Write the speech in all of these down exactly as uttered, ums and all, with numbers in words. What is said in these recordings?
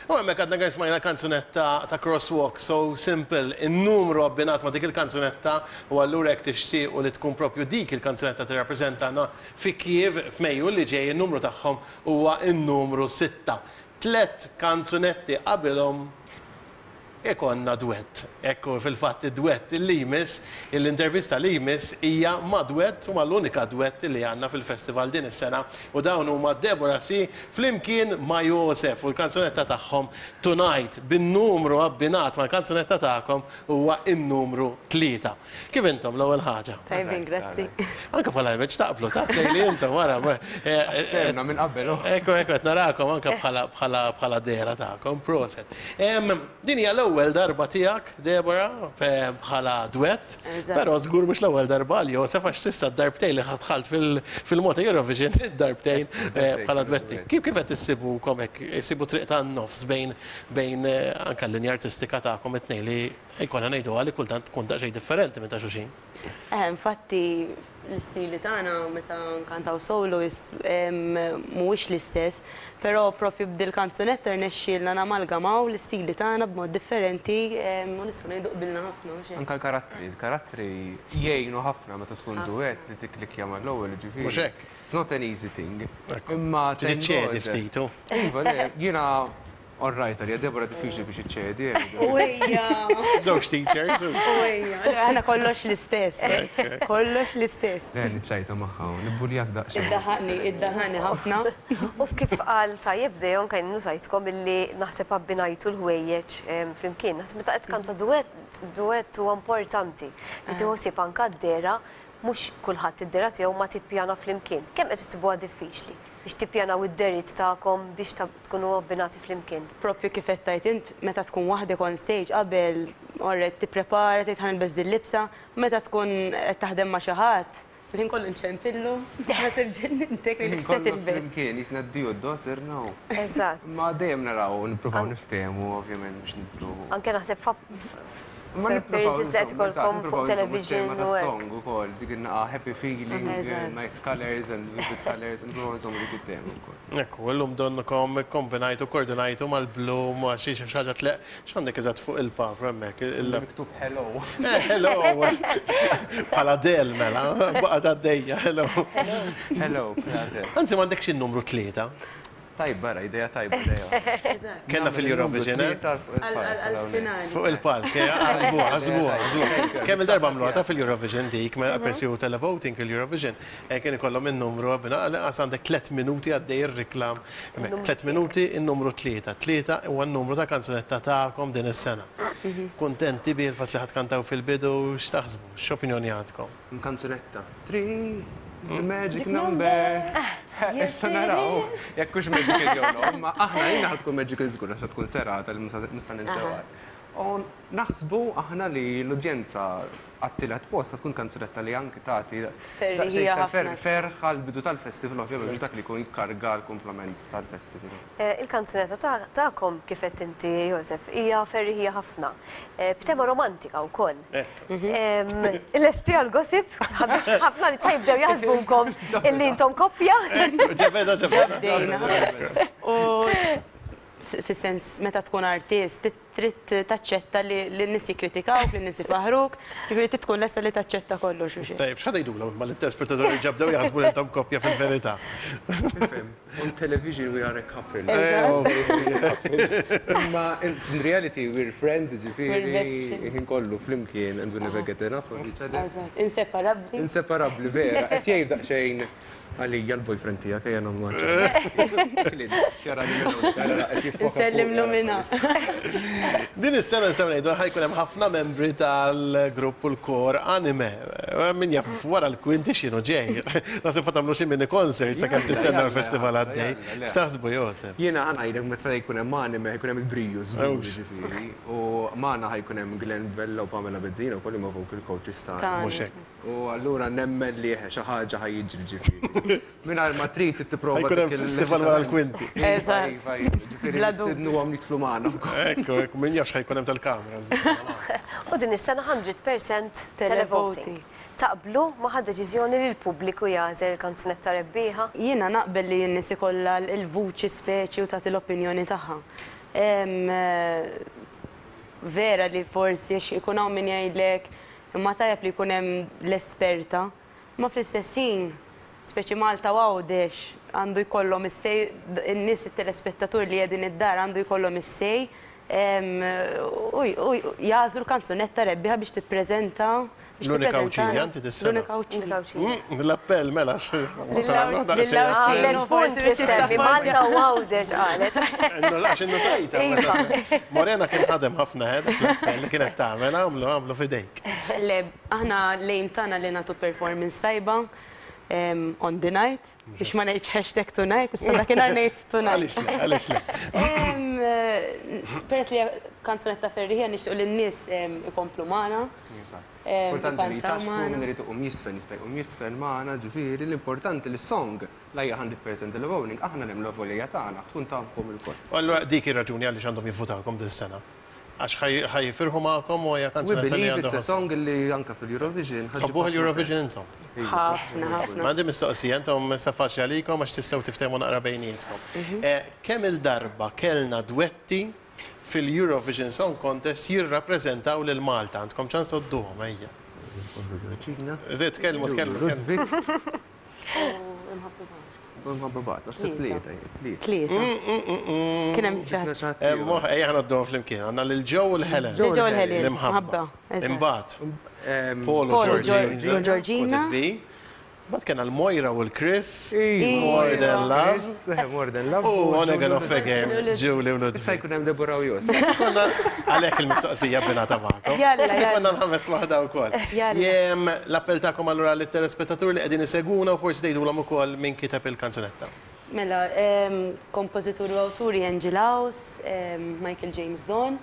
U hemmhekk għadna kemm smajna kanzunetta ta' Crosswalk, "So Simple", in-numru abbinat ma' dik il-kanzunetta, u allura jekk tixtiequ li tkun propju dik il-kanzunetta tirrappreżentana fi Kiev f'Mejju li ġej, in-numru tagħhom huwa n-numru sitta. Tlet kanzunetti qabilhom ikonna duett. Ekku, fil-fatt id-duett li jmiss, l-intervista li jmiss hija ma' duett u l-unika duett li għandna fil-festival din is-sena u dawn huma Deborah C flimkien ma' Josef u l-kanzunetta tagħhom "Tonight", bin-numru abbinat mal-kanzunetta tagħkom huwa in-numru tlieta. Kif intom, l-ewwel ħaġa? Tajbin, grazzi. Anka bħala image taqblu, ta' li intom wara. Ftehimna minn qabel, oh. Ekku, ekku, qed narakom anka bħala bħala bħala dehra tagħkom, proset. Em, Din hija l-ewwel darba tiegħek, Deborah, pe- bħala duett, Eżatt. però żgur mhux l-ewwel darba għal Josef, għax s'issa d-darbtejn li dħalt fil- fil-Malta Eurovision, id-darbtejn eh, bħala duetti. Kif kif qed issibukom hekk, issibu triq tan-nofs bejn bejn eh, anka l-linja artistika tagħkom it-tnejn li jkollna ngħidu li kultant tkun daqsxejn differenti minn ta' xulxin? Eh, infatti l-istili tagħna meta nkantaw solo ist- em, mhuwiex l-istess, però propju b'dil kanzunetta rnexxielna namalgamaw l-istili tagħna b'mod differenti em, u nistgħu ngħidu qbilna ħafna, mhux hekk? Anka l-karattri, il-karattri jgħinu ħafna meta tkun duett li tiklikja mal-ewwel, ġifieri. Mhux hekk? It's not an easy thing. Ekku. Imma Trid iċċedi thank God. ftit, u. Iva, le, jiena all right, għalija Deborah diffiċli biex iċċedi. U ejja, Żewġ teachers. u- u ejja. Aħna kollox l-istess. Kollox l-istess. Le, niċċajta magħha, nibbuljak daqsxejn. Iddaħani, iddaħani ħafna. U kif qal tajjeb Dejon, kien nużajtkom illi naħseb abbinajtu l-ħwejjeġ em, flimkien. Naħseb meta qed kanta duett, duett huwa importanti li tieħu ħsieb anka d-dehra, mhux kulħadd id-dehra tiegħu ma tippjana flimkien. Kemm qed issibuha diffiċli biex tippjanaw id-dehriet tagħkom biex ta- tkunu abbinati flimkien? Propju kif qed tgħid int, meta tkun waħdek on stage qabel orret tipprepara, tgħid ħa nilbes din libsa, meta tkun qed taħdem ma' xi ħadd, il-ħin kollu nċempillu, naħseb ġennintek li se Kollu tilbes. flimkien, jisna d-dio d-do, sirna. Eżatt. Ma dejjem naraw, nippruvaw niftehmu, ovvjament, biex nidru. Anke naħseb fa Ma appearances li qed ikollkom fuq television u hekk. Song ukoll, dik in-naqa happy feeling, Eżatt. nice colors and vivid colors, nippruvaw nżommu dik it-tema wkoll. Ekku, illum donnukom kombinajtu, koordinajtu mal-blu, ma xi xi ħaġa tleq, x'għandek eżatt fuq il-pavru hemmhekk? Il- Miktub "hello". Eh, hello! Bħala del mela, baqgħet għaddejja, hello. Hello, Prater. Anzi, m'għandekx il-numru tlieta. Tajba, ra, ideja tajba, ideja. Kellna fil-Eurovision, eh? Għal-finali. Fuq il-palk, eh, għazbu, għazbu, għazbu. Kemm il-darba għamluha ta' fil-Eurovision dik, ma persju televoting il-Eurovision, eh, kien ikollhom il-numru, għabina, għas għandek tlet minuti għaddej ir-reklam. Tlet minuti, il-numru tlieta. Tlieta huwa n-numru ta' kanzunetta tagħkom din is-sena. Kuntenti bil fatt li ħa tkantaw fil-bidu, x'taħsbu? X'opinjoni għandkom? Kanzunetta. Three is the magic number. Issa naraw. Jekk hux magical jew no, ma aħna jina ħa tkun magical żgur, għax tkun serata li musta ninsewha. U naħsbu aħna li l-udjenza għat-tielet post tkun kanzunetta li anki tagħti Ferriħija ħafna. ferħ għal-bidu tal-festival, ovvjament, biex dak li jkun jikkarga l-kumplament tal-festival. Eh, Il-kanzunetta ta- tagħkom, kif qed inti, Josef, hija ferriħija ħafna. Eh, B'tema romantika wkoll. Em, Lesti għal-gossip, biex ħafna li jibdew jaħsbukom illi intom koppja. Ġebeda, ġebeda. Bdejna. U fis-sens meta tkun artist, trid taċċetta li n-nies jikkritikawk, li n-nies ifaħruk, ġifieri trid tkun lesta li taċċetta kollox u xejn. Tajb, x'ħa tgħidulhom ma l-telespettaturi ġabdew jaħsbu li intom koppja fil-verità? Ifhem, on television we are a couple. Eh, Ma in reality we're friends, We're ġifieri, best friends. ħin kollu flimkien and we never get enough of each other. Eżatt, inseparabbli. Inseparabbli, vera. Qed jgħid daqsxejn għalija l-boyfriend tiegħek, ejja nagħmlu. Nsellimlu minna. Din is-sena nistgħu ngħidu ħa jkun hemm ħafna membri tal-grupp u l-kor Anime. Min jaf wara l-kwinti x'inhu ġej. Naħseb ħa tagħmlu xi mini concert sakemm tistenna l-festival għaddej. X'taħsbu, Josef? Jiena ħa ngħidlek, meta jkun hemm Anime jkun hemm il-briju żgur, Ewx. ġifieri. U magħna ħa jkun hemm Glenn Vella u Pamela Bezzina wkoll, huma vocal coaches tagħna. Tagħna. Mhux hekk. U allura nemmen li xi ħaġa ħa jiġri, ġifieri. Mingħajr ma trid tipprova Ħa jkun hemm dik il- festival wara l-kwinti. Iva, Eżatt. iva, iva. Ġifieri Bla dubju. nistednuhom jidħlu magħna wkoll. Ekku, ekku, min jaf x'ħa jkun hemm tal-kamera. U din is-sena mija fil-mija televoting. Televoting. Taqblu ma' deċiżjoni li l-pubbliku jagħżel il-kanzunetta rebbieħa? Jiena naqbel li n-nies ikollha l-vuċi speċi u tagħti l-opinjoni tagħha. Vera li forsi ikun hawn min jgħidlek imma tajjeb li jkun hemm l-esperta, ma fl-istess ħin, speċi Malta u Għawdex għandu jkollhom is-say, in-nies it-telespettatur li qegħdin id-dar għandu jkollhom is-say u jagħżlu l-kanzunetta rebbieħa biex tippreżenta. L-unika Għawdxija inti dis-sena. L-unika Għawdxija. L-appell mela. Għamlet punt li semmi Malta u Għawdex qalet. Għax innotajta. Morena kien ħadem ħafna dak li kienet tagħmel għamlu għamlu f'idejk. Le, aħna lejn tagħna li nagħtu performance tajba on the night, biex ma ngħidx hashtag tonight, issa dakinhar ngħid tonight. Għaliex le, għaliex le. Peress li kanzunetta ferriħija nixtiequ lin-nies ikomplu magħna. Importanti li jitaxku minn irid iqum jisfen, jista' jqum jisfen magħna, ġifieri l-importanti li song la hija hundred percent il-voting, aħna nemmnu volja tagħna tkun tagħkom ilkoll. Allura dik ir-raġuni għaliex għandhom jivvutawkom din is-sena. Għax ħajfirħu magħkom u hija kanzunetta li għandhom. It's a song li anke fil-Eurovision. Ħabbuh l-Eurovision intom? Ħafna, ħafna. M'għandi mistoqsija, intom sa faċli għalikom għax tistgħu tiftehmu naqra bejnietkom. Kemm il-darba kellna dwetti fil-Eurovision Song Contest jirrappreżentaw lil Malta? Għandkom ċans tgħodduhom, ejja. Tkellmu, tkellmu. Mħabba bat, naħseb tlieta. Tlieta. Kien hemm xi ħadd. Ejja ħa ngħodduhom flimkien. Għandna lil Joe u l-Helen. Lil Joe u l-Helen. L-imħabba. Imbagħad Paul u Georgina. Mbagħad kellna l-Moira u l-Chris. More Than Love. More Than Love. U On Again Off Again, Julie u Ludwig. Issa jkun hemm Deborah u Jos. Konna għalhekk il-mistoqsija binata magħkom. Issa konna nħammes waħda wkoll. Jem l-appell tagħkom allura lit-telespettaturi li qegħdin isegwuna u forsi tgħidulhom ukoll min kiteb il-kanzunetta. Mela, kompożitur u awturi Angel House, Michael James Don,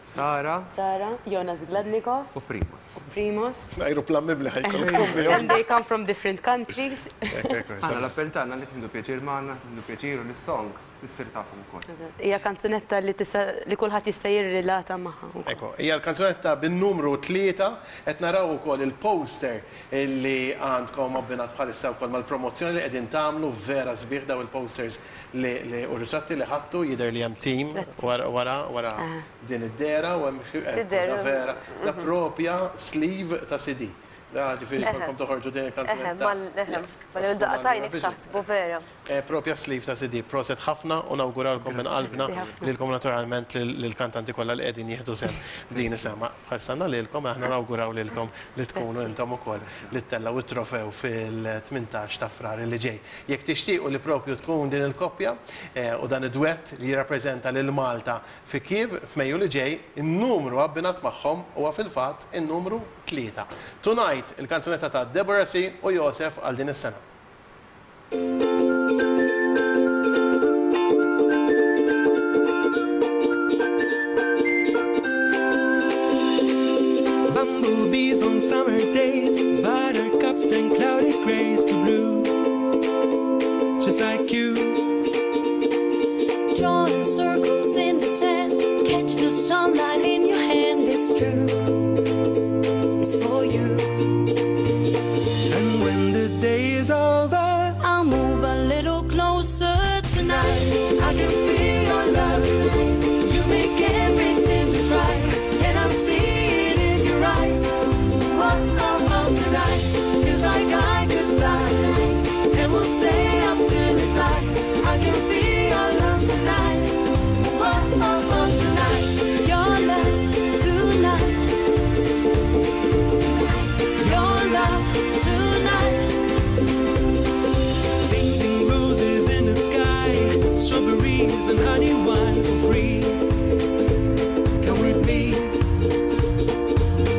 Sara. Sara, Jonas Gladnikov. U Primos. U Primos. Aeroplan mibli ħajkolkom. And they come from different countries. Aħna l-appell tagħna li tieħdu pjaċir magħna, tieħdu pjaċir u lis-song issir tafhom ukoll. Hija kanzunetta li tista' li kulħadd jista' jirrilata magħha. Ekku, hija l-kanzunetta bin-numru tlieta qed naraw ukoll il-poster li għandkom abbinat bħalissa wkoll mal-promozzjoni li qegħdin tagħmlu vera sbieħ daw il-posters li u ritratti li ħadtu jidher li hemm team wara wara din id-dera u hemm vera ta' propja sleeve ta' C D. Da ġifieri jkollkom toħorġu din il-kanzunetta. Daqtajn taħsbu vera. Propja sleeve ta' C D, proset ħafna u nawguralkom minn qalbna lilkom naturalment lill-kantanti kollha li qegħdin jieħdu sehem din is-sema. Bħalsanna lilkom aħna nawguraw lilkom li tkunu intom ukoll li ttellgħu it-trofew fil-tmintax ta' Frar li ġej. Jekk tixtiequ li propju tkun din il-koppja u dan id-dwett li jirrappreżenta lil Malta fi Kiev f'Mejju li ġej, in-numru abbinat magħhom huwa fil-fatt in-numru tlieta. Tonight il-kanzunetta ta' Deborah C. u Josef għal din is-sena. Bumblebees on summer days, buttercups turn cloudy grays to blue, just like you. Drawing circles in the sand, catch the sunlight in your hand, it's true. It's for you. And when the day is over, I'll move a little closer tonight. I can feel your love. You make everything just right, and I see it in your eyes. What oh, tonight feels like I could fly, and we'll stay up till it's light. I can feel your love tonight. What oh, tonight. Your love tonight. Your love tonight. Painting roses in the sky, strawberries and honey wine for free. Come with me.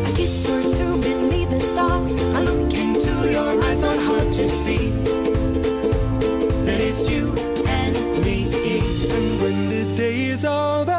A kiss or two beneath the stars. I look into your eyes, not hard to see that it's you and me. And when the day is over,